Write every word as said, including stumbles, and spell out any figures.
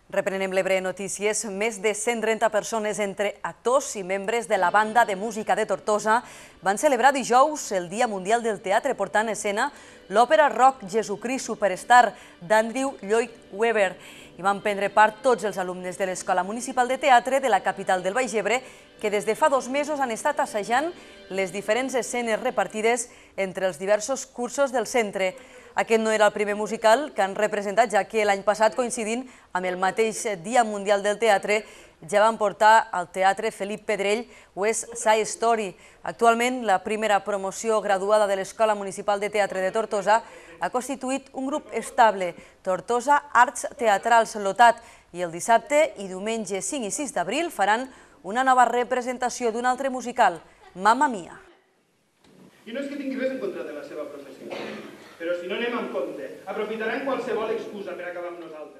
Reprenem l'Ebre Notícies. Més de cent trenta persones entre actors i membres de la Banda de Música de Tortosa van celebrar dijous el Dia Mundial del Teatre portant a escena l'òpera rock Jesucrist Superstar d'Andrew Lloyd Webber. Hi van prendre part tots els alumnes de l'Escola Municipal de Teatre de la capital del Baix Ebre, que des de fa dos mesos han estat assajant les diferents escenes repartides entre els diversos cursos del centre. Aquest no era el primer musical que han representat, ja que l'any passat, coincidint amb el mateix Dia Mundial del Teatre, ja van portar al Teatre Felip Pedrell West Side Story. Actualment, la primera promoció graduada de l'Escola Municipal de Teatre de Tortosa ha constituït un grup estable, Tortosa Arts Teatrals Lotat, i el dissabte i diumenge cinc i sis d'abril faran una nova representació d'un altre musical, Mamma Mia. I no és que tingui res en contra de la seva professió, però si no anem amb compte, aprofitaran qualsevol excusa per acabar amb nosaltres.